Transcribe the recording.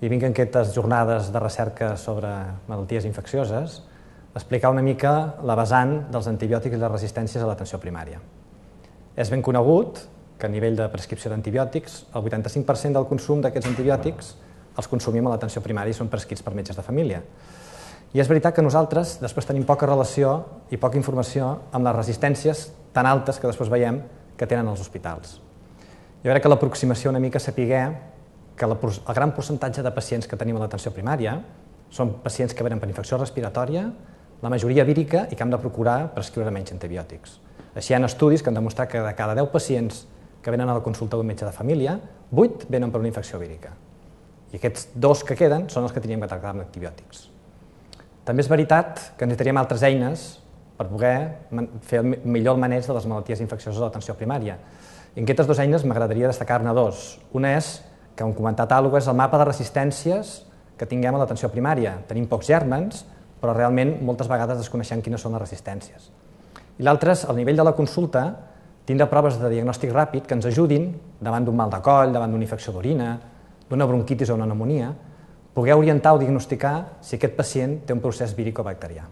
i vinc en aquestes jornades de recerca sobre malalties infeccioses a explicar una mica la vessant dels antibiòtics i les resistències a l'atenció primària. És ben conegut que a nivell de prescripció d'antibiòtics el 85% del consum d'aquests antibiòtics els consumim a l'atenció primària i són prescrits per metges de família. I és veritat que nosaltres després tenim poca relació i poca informació amb les resistències tan altes que després veiem que tenen els hospitals. Jo crec que l'aproximació una mica saber que el gran percentatge de pacients que tenim a l'atenció primària són pacients que venen per infecció respiratòria, la majoria vírica i que hem de procurar prescriure menys antibiòtics. Així hi ha estudis que han demostrat que de cada 10 pacients que venen a la consulta d'un metge de família, 8 venen per una infecció vírica. I aquests 2 que queden són els que teníem que tractar amb antibiòtics. També és veritat que necessitaríem altres eines per poder fer millor el maneig de les malalties infeccioses a l'atenció primària. I en aquestes 2 eines m'agradaria destacar-ne 2. Una és, que hem comentat alguna cosa, és el mapa de resistències que tinguem a l'atenció primària. Tenim pocs gèrmens, però realment moltes vegades desconeixem quines són les resistències. I l'altre és, al nivell de la consulta, tindre proves de diagnòstic ràpid que ens ajudin, davant d'un mal de coll, davant d'una infecció d'orina, d'una bronquitis o una pneumònia, poder orientar o diagnosticar si aquest pacient té un procés víric o bacterià.